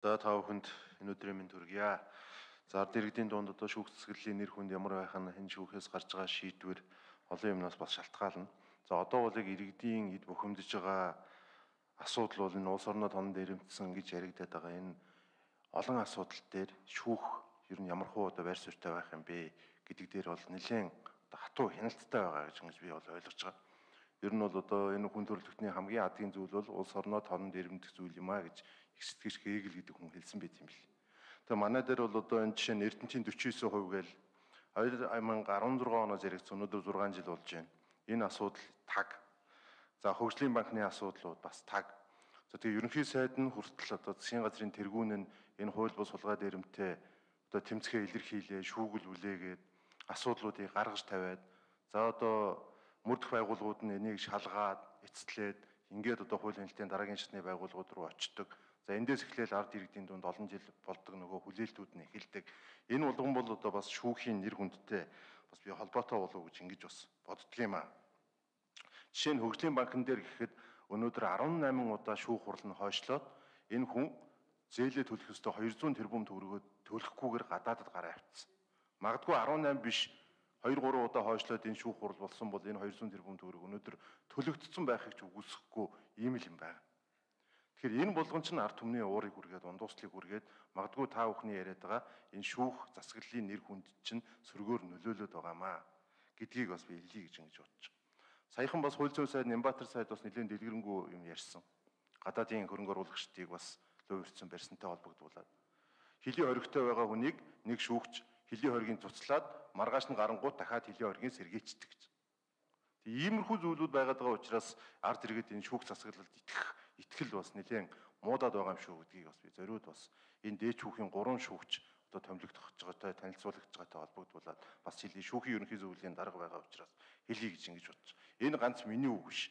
За та бүхэнд энэ өдрийн мэнд хүргье. За ард иргэдийн дунд одоо шүүх цэцгэллийн нэр хүнд ямар байх нь энэ шүүхээс гарч байгаа шийдвэр олон юмнаас бас шалтгаална. За одоо бол яг иргэдийн эд бухимдаж байгаа асуудал бол энэ улс орноо тонон дээрэмтсэн гэж яригадаад байгаа энэ олон асуудал дээр шүүх ер нь ямар хуу одоо байр суурьтай байх юм бэ гэдэг дээр бол нэлээд хатуу хяналттай байгаа гэж би бол ойлгож байгаа. Ер нь бол одоо энэ хүн төрөлхтний хамгийн адгийн зүйл бол улс орноо тонон дээрэмдэх зүйл юм а гэж их сэтгэгч Гегел гэдэг хүн хэлсэн байт юм бэл. Тэгээ манай дээр бол одоо энэ жишээ нь Эрдэнэтийн 49% гээл 2016 оноос яригдсан өнөөдөр 6 жил болж байна. Энэ асуудал таг. За хөгжлийн банкны асуудлууд бас таг. За тэгээ ерөнхий сайд нь хүртэл одоо засгийн газрын тэргүүн нь энэ хууль бус сулгаа дээрэмтэй одоо тэмцэхээ илэрхийлээ, шүүгэл үлээгээд асуудлуудыг гаргаж тавиад за одоо мөрдөх байгууллагууд нь энийг шалгаад эцэслээд ингээд одоо хуулийн хэлтийн дараагийн шатны байгууллагууд руу очдог. За эндээс эхлээл ард иргэдийн дунд олон жил болдог нөгөө хүлээлтүүд нь эхэлдэг. Энэ болгон бол одоо бас шүүхийн нэр хүндтэй бас би холбоотой болов гэж ингэж бас боддөг юм аа. Жишээ нь хөгжлийн банкн дээр гэхэд өнөөдөр 18 удаа шүүх хурал нь хойшлоод энэ хүн зээлээ төлөх ёстой 200 тэрбум төгрөгөө төлөхгүйгээр гадаадд гараа авчихсан. Магадгүй 18 биш 2-3 удаа хойшлоод энэ шүүх хурал болсон бол энэ 200 тэрбум төгрөг өнөөдөр төлөгдсөн байхыг ч үгүйсэхгүй ийм л юм байна. Тэгэхээр энэ болгон ч ард түмний уурыг үргээд ундууслыг үргээд магадгүй та бүхний яриад байгаа энэ шүүх засаглалын нэр хүнд чинь сөргөөр нөлөөлөд байгаамаа гэдгийг бас би хэлье гэж ингэж бодож байна. Саяхан бас хууль зүйн сайд Нямбатар сайд бас нэлээд дэлгэрэнгүй юм ярьсан. Гадаадын хөрөнгө оруулагчдыг бас лөө өрцөн барьсантай холбогдуулаад хилийн хоригтой байгаа хүнийг нэг шүүгч хилийн хоригийн цуцлаад маргааш нь гарангууд дахиад хилийн хоригийн сэргээчдэг гэж. Тэг иймэрхүү зүйлүүд байгаад байгаа учраас ард иргэд энэ шүүх засаглалд итгэл бас нэлээд муудаад байгаа юм шүү гэдгийг бас би зориуд бас энэ дээд шүүхийн 3 шүүгч одоо томилогдох гэж байгаатай танилцуулагдж байгаатай холбогдуулаад бас хилийн шүүхийн ерөнхий зөвлөлийн дарга байгаа учраас хэлье гэж ингэж бодож. Энэ ганц миний үг биш.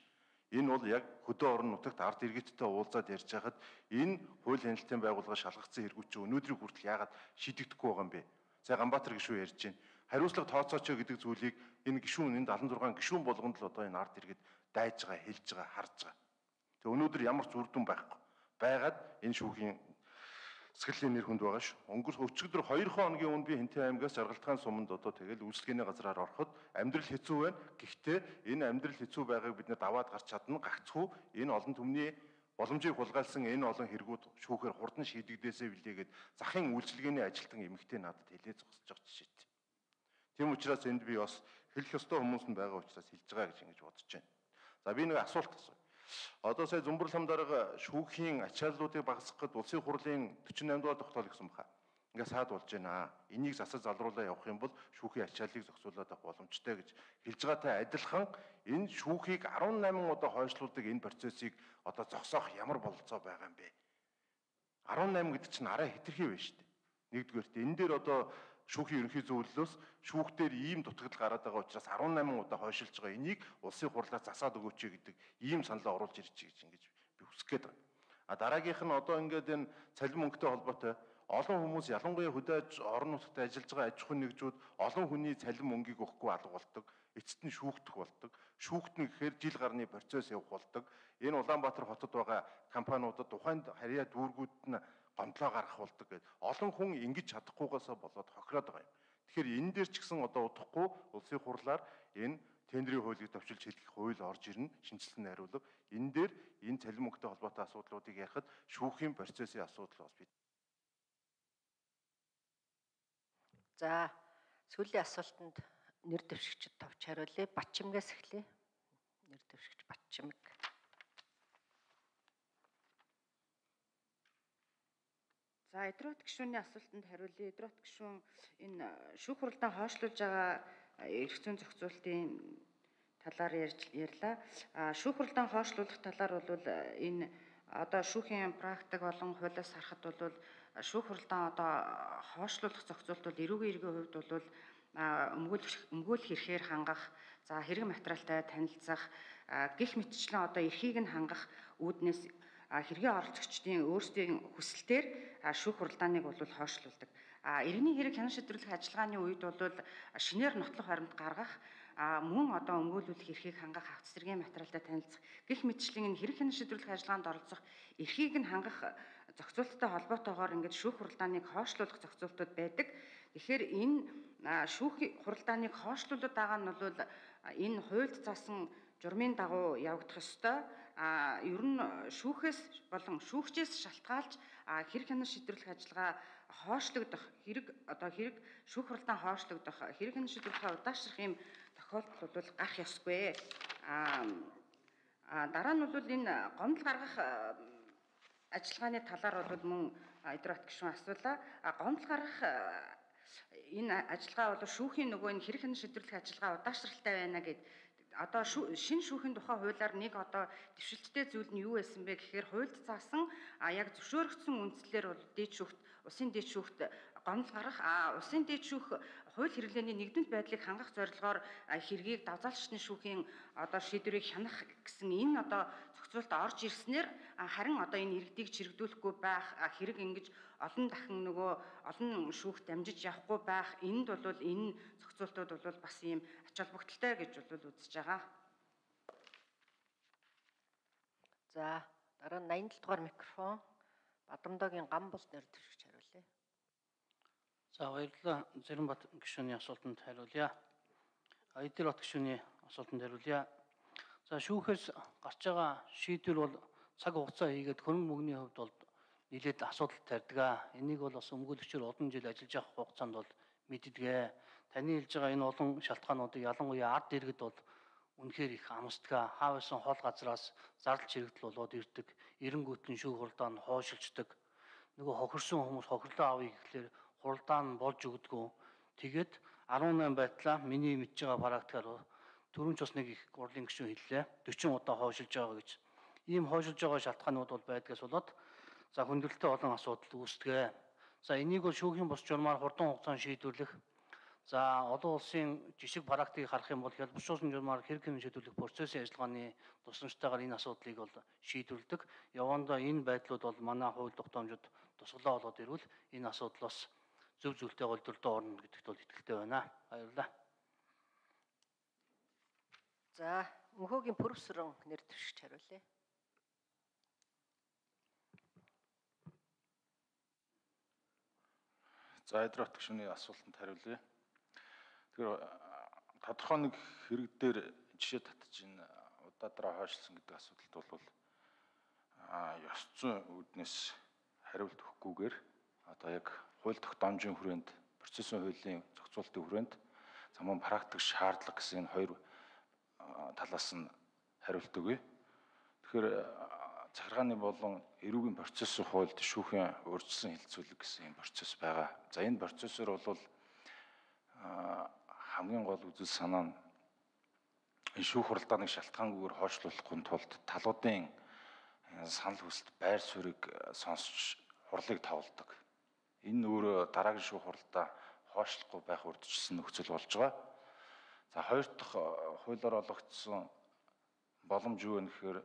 Энэ бол яг хөдөө орон нутагт ард иргэдтэй уулзаад ярьж байхад энэ хууль хяналтын байгууллага шалгагдсан хэрэгүүд чинь өнөөдрийн хүртэл яагаад шийдэгдэхгүй байгаа юм бэ? Сая Ганбаатар гишүүн ярьж байна. Хариуцлага тооцооч гэдэг зүйлийг энэ гишүүн энэ 76 гишүүн болгонд л одоо энэ ард иргэд дайж байгаа, хэлж байгаа, харж байгаа. Тэг өнөөдөр ямар ч үр дүн байхгүй. Байгаад энэ шүүхийн засаглалын нэр хүнд байгаа ш. Өчигдөр 2 хоногийн өмнө би Хинтээ аймгаас Жаргалтгаан суманд одоо тэгэл үйлчлэгээний газраар ороход амьдрал хэцүү байна. Гэхдээ энэ амьдрал хэцүү байгааг бид нэ даваад гарч чадна. Гагцхүү энэ олон түмний боломжийг хулгайлсан энэ олон хэрэгүүд шүүхээр хурдан шийдэгдээсэй билээгээд захын үйлчлэгээний ажилтан эмэгтэй надад хэлээ зогсож байгаа жишээтэй. Тийм учраас энд би бас хэлэх ёстой хүмүүс нь байгаа учраас хэлж байгаа гэж ингэж бодож байна. За би нэг асуулт асууя. Одоо сая Зүмбэр лам дарга шүүхийн ачааллуудыг багасгахад улсын хурлын 48 дугаар тогтоол гэсэн баха. Ингээ саад болж байна. Энийг засаж залруулаа явах юм бол шүүхийн ачааллыг зохицуулаад авах боломжтой гэж хэлж байгаатай адилхан энэ шүүхийг 18 удаа хойшлуулдаг энэ процессыг одоо зогсоох ямар бололцоо байгаа юм бэ? 18 гэдэг чинь арай хэтэрхий байна шүү дээ. Нэгдүгээрт энэ дээр одоо шүүхийн ерөнхий зөвлөлөөс шүүхтэр ийм дутагдал гараад байгаа учраас 18 удаа хойшилж байгаа энийг улсын хурлаас засаад өгөөч гэдэг ийм саналаа оруулж ирж гэж ингэж би хүсэх гээд байна. А дараагийнх нь одоо ингээд энэ цалин мөнгөтэй холбоотой олон хүмүүс ялангуяа хөдөө орон нутагт ажиллаж байгаа аж ахуйн нэгжүүд олон хүний цалин мөнгийг өгөхгүй алга болдог. Эцэст нь шүүгдэх болдог. Шүүгт нь гэхээр жил гарны процесс явах болдог. Энэ Улаанбаатар хотод байгаа компаниудад тухайн харьяа дүүргүүд нь гомдлоо гаргах болдог гэдэг. Олон хүн ингэж чадахгүйгаасаа болоод хохироод байгаа юм. Тэгэхээр энэ дээр ч гэсэн одоо удахгүй улсын хурлаар энэ тендерийн хуулийг товчилж хэлэх хууль орж ирнэ, шинжилсэн найруулга. Энэ дээр энэ цалин мөнгөтэй холбоотой асуудлуудыг ярихад шүүхийн процессын асуудал бас бид. За сүүлийн асуултанд нэр дэвшигчд товч хариулъя. Батчимгээс эхлэе. Нэр дэвшигч Батчимг. За Эдрот гишүүний асуултанд хариулъя. Эдрот гишүүн энэ шүүх хуралдаа хойшлуулж байгаа эрх зүйн зохицуултын талаар ярьлаа. Шүүх хуралдаа хойшлуулах талаар бол энэ одоо шүүхийн практик болон хуулиас харахад бол шүүх хуралдаа одоо хойшлуулах зохицуулт бол эрүүгийн иргэний хувьд бол өмгөөлөх эрхээр хангах, за хэрэг материалтай танилцах, гэх мэтчлэн одоо эрхийг нь хангах үүднээс хэргийн оролцогчдын өөрсдийн хүсэлтээр шүүх хуралдааныг бол хойшлуулдаг. Иргэний хэрэг хянан шийдвэрлэх ажиллагааны үед бол шинээр нотлох баримт гаргах, мөн одоо өмгөөлүүлэх эрхийг хангах, авто цэцэрлэгийн материалтай танилцах, гэх мэтчлэн энэ хэрэг хянан шийдвэрлэх ажиллагаанд оролцох, эрхийг нь хангах зохицуулалттай холбоотойгоор ингээд шүүх хуралдааныг хойшлуулах зохицуултууд байдаг. Тэгэхээр энэ шүүх хуралдааныг хойшлуулад байгаа нь бол энэ хуульд заасан журмын дагуу явагдах ёстой. Ер нь шүүхээс болон шүүгчээс шалтгаалж хэрэг хянаж шийдвэрлэх ажиллагаа хойшлогдох хэрэг шүүх хуралдаан хойшлогдох хэрэг хянаж шийдвэрлэхээ удаашрах юм тохиолдол бол гарах ёсгүй. Дараа нь бол энэ гомдол гаргах ажиллагааны талаар бол мөн Эдвард гишүүн асуулаа. Гомдол гаргах энэ ажиллагаа бол шүүхийн нөгөө энэ хэрэг хянаж шийдвэрлэх ажиллагаа удаашралтай байна гэд одоо шинэ шүүхийн тухай хуулиар нэг одоо дэвшилттэй зүйл нь юу байсан бэ гэхээр хуульд заасан яг зөвшөөрөгдсөн үндслээр бол улсын дээд шүүхт гомдол гарах улсын дээд шүүх хууль хэрэглээний нэгдмэл байдлыг хангах зорилгоор хэргийг давзаалчны шүүхийн одоо шийдвэрийг хянах гэсэн энэ одоо зохицуулт орж ирснээр харин одоо энэ иргэдийг чирэгдүүлэхгүй байх хэрэг ингэж олон дахин нөгөө олон шүүхт дамжиж явахгүй байх энд бол энэ зохицуултууд бол бас ийм ач холбогдолтой гэж бол үзэж байгаа. За дараа нь 87 дугаар микрофон Бадамдоогийн Гамбол нэр дэвшигч хариулъя. За баярлалаа. Зэрэнбат гишүүний асуултанд хариулъя. Эдвард гишүүний асуултанд хариулъя. За шүүхээс гарч байгаа шийдвэр бол цаг хугацаа хийгээд хөрөнгө мөнгөний хувьд бол нэлээд асуудал тарьдаг. Энийг бол бас өмгөөлөгчөөр олон жил ажиллаж явах хугацаанд бол мэддэг. Таны хэлж байгаа энэ олон шалтгаануудыг ялангуяа ард иргэд бол үнэхээр их амсдаг. Хаавсан хол газраас зардал чирэгдэл болоод ирдэг. Эренгүүт нь шүүх хуралдаан нь хойшилждаг. Нөгөө хохирсон хүмүүс хохирлоо авъя гэхлээр хуралдаан нь болж өгдөггүй. Тэгээд 18 байтлаа миний мэдж байгаа практикаар түрүүн ч бас нэг их гурлын гишүүн хэллээ. 40 удаа хойшилж байгаа гэж. Ийм хойшилж байгаа шалтгаанууд бол байдгаас болоод за хүндрэлтэй олон асуудал үүсдэг. За энийг бол шүүхийн бус журмаар хурдан хугацаанд шийдвэрлэх. За олон улсын жишг практикийг харах юм бол хялбаршуулсан журмаар хэрэг хянаж шийдвэрлэх процессын ажиллагааны тусламжтайгаар энэ асуудлыг бол шийдвэрлэдэг. Явандаа энэ байдлууд бол манай хууль тогтоомжид тусгалаа болоод ирвэл энэ асуудлаас зөв зөвлөлтэй голдолтой орно гэдэгт бол итгэлтэй байна. Баярлалаа. За мөнхөөгийн Пүрвсрэн нэр дэвшигч хариулъя. За Эдвард гишүүний асуултанд хариулъя. Тэгэхээр тодорхой нэг хэрэг дээр жишээ татж энэ удаадраа хойшлсон гэдэг асуудалд бол ёс зүйн үүднээс хариулт өгөхгүйгээр одоо яг хууль тогтоомжийн хүрээнд процессын хуулийн зохицуулалтын хүрээнд замун практик шаардлага гэсэн энэ хоёр талаас нь хариулт өгье. Тэгэхээр захиргааны болон эрүүгийн процессын хуульд шүүхийн урьдчилан хилцүүлэг гэсэн энэ процесс байгаа. За энэ процессор бол хамгийн гол үзэл санаа нь энэ шүүх хуралдааныг шалтгаангүйгээр хойшлуулахын тулд талуудын санал хүсэлт байр суурийг сонсч хурлыг тавладаг. Энэ өөрөө дараагийн шүүх хуралдаа хойшлохгүй байх урьдчилсан нөхцөл болж байгаа. За хоёр дахь хуулиар олгогдсон боломж юу вэ гэхээр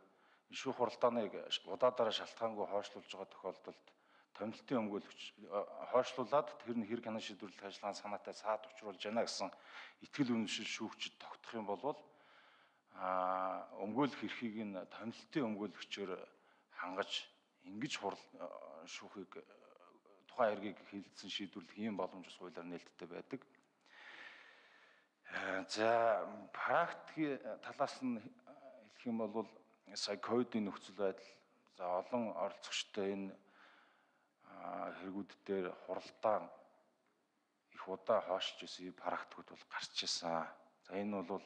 шүүх хуралдааныг удаадараа шалтгаангүй хойшлуулж байгаа тохиолдолд томилтын өмгөөлөгч хойшлуулад тэр нь хэрэг хянаж шийдвэрлэх ажиллагааны санаатай саад учруулж байна гэсэн итгэл үнэмшил шүүгчид тогтох юм бол өмгөөлөх эрхийг нь томилтын өмгөөлөгчөөр хангаж ингэж шүүхийг тухайн хэргийг хилцэн шийдвэрлэх ийм боломж ус хуулиар нээлттэй байдаг. За практикийн талаас нь хэлэх юм бол сая ковидын нөхцөл байдал за олон оролцогчтой энэ хэрэгүүд дээр хуралдаан их удаа хойшиж исэн практикууд бол гарч ирсэн. За энэ бол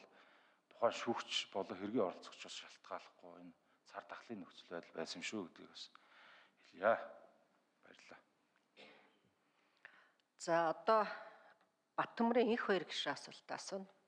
тухайн шүүгч болон хэргийн оролцогчоос шалтгааллахгүй энэ цар тахлын нөхцөл байдал байсан юм шүү гэдгийг бас хэлье. Баярлалаа. За одоо Баттөмрийн их хоёр гишүүн асуулт асууна.